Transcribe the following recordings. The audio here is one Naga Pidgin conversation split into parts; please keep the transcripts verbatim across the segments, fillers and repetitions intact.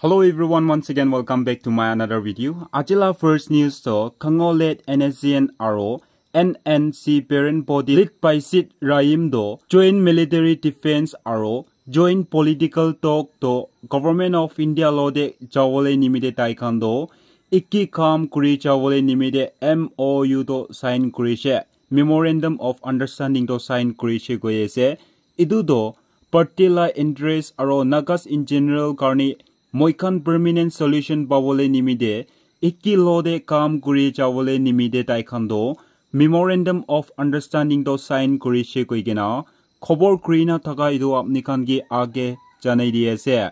Hello everyone, once again welcome back to my another video. Ajila first news to Kango led N S C N aro N N C parent body led by Sid Rahim do joint military defense aro joint political talk to Government of India lo de jawole nimite tai khan do ikki kam kuri jawole nimite M O U to sign kurishe, Memorandum of Understanding to sign kurishe koi ase. Etu to party la interest aro Nagas in general karni moi khan permanent solution pawole nimite ikki lo de kam kuri jawole nimite tai khan to Memorandum of Understanding to sign kurishe koi kena khobor kuri na thaka etu apni khan ke age janai di ase.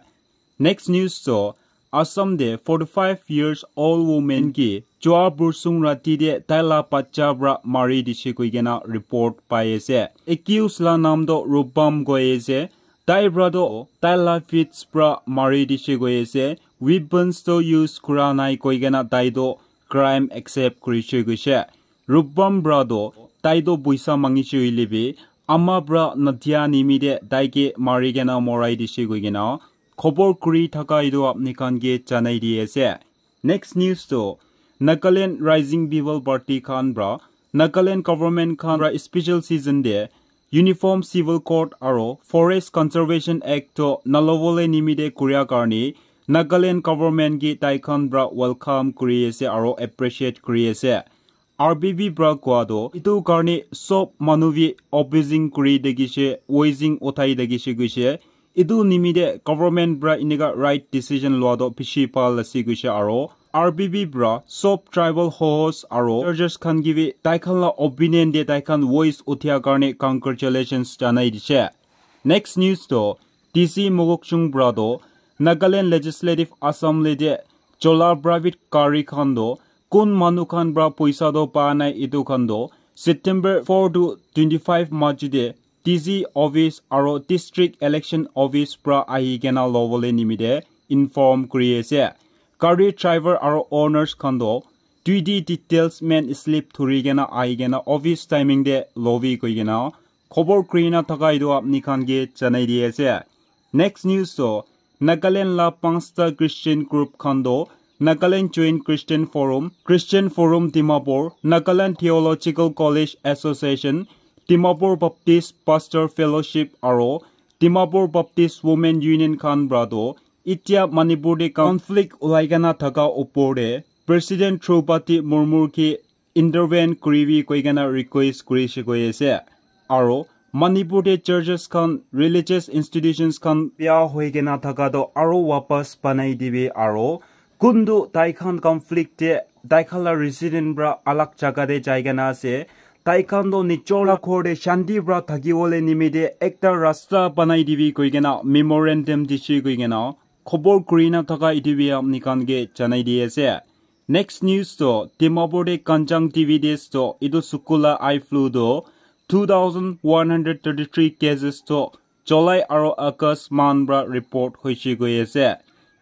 Next news to Assam de forty-five years old woman ki jua bursung rati de tai la bacha bra mari dishe koi kena report pai ase. Accused la nam to Rupam koi ase. Tai bra to tai la fits bra mari dishe koi ase. Weapons to use kura nai koi kena tai to crime accept kurishe koishe. Rupam bra to tai to puisa mangishe hoile bi ama bra nadia nimite tai ke mari kena morai dishe koi kena khobor kuri thaka etu apni khan ke janai di ase. Next news to Nagaland Rising People Party khan bra Nagaland government khan bra special season de Uniform Civil Code aro Forest Conservation Act to nalobole nimite kuria karni Nagaland government ki tai khan bra welcome kuri ase aro appreciate kuri ase. R B B bra kua to etu karni sob manu bi opposing kuri dekishe, voicing uthai dekishe koishe. Etu nimite government bra enika right decision lua to bishi bhal ase koishe aro R B B bra sob tribal host aro churches khan ki bi tai khan la opinion de tai khan voice uthia karni congratulations janai dishe. Next news to D C Mokokchung bra to Nagaland Legislative Assembly de chola private gari khan to kun manu khan bra puisa to pa nai etu khan to September four to twenty-five maj de D C office aro district election office pra ahi kena lobole nimite inform kuri ase. Gari driver aro owners khan to duty details men slip thuri kena ahi kena office timing te lobi koi kena khobor kuri na thaka etu apni khan ke janai di ase. Next news to Nagaland la panchta Christian group khan to Nagaland Joint Christian Forum, Christian Forum Dimapur, Nagaland Theological College Association, Dimapur Baptist Pastor Fellowship aro Dimapur Baptist Women Union khan pra to itia Manipur te conflict ulai kena thaka upor te President Droupadi Murmu ki intervene kuribi koi kena request kurishe koi ase. Aro Manipur te churches khan, religious institutions khan bia hoi kena thaka to aro wapas banai dibi aro kuntu tai khan conflict te tai khan la resident pra alag jaga te jai kena ase. Tai khan to nijor la ghor te shanti pra thaki bole nimite ekta rasta banai dibi koi kena memorandum dishe koi kena khobor kuri na thaka etu bi apni khan ke janai di ase. Next news to Dimapur te kanjang T V des to etu sukula eye flu to two thousand one hundred thirty-three cases to July aro August month pra report hoishe koi ase.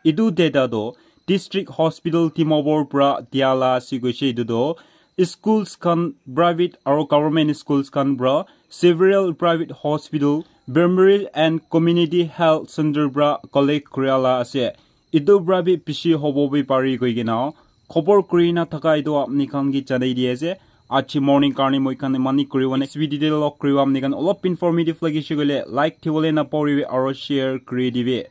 Etu data to District Hospital Dimapur pra dia la ase koishe etu to schools khan private aro government schools khan pra several private hospital, primary and community health center pra collect kuria la ase. Etu pra bi bishi hobo bi pari koi kena khobor kuri na thaka etu apni khan ke janai di ase. Aji morning karni moi khan mani kuri wane next video te log kuri apni khan olop informative lagi she koile like thibole na poribi aro share kuri dibi.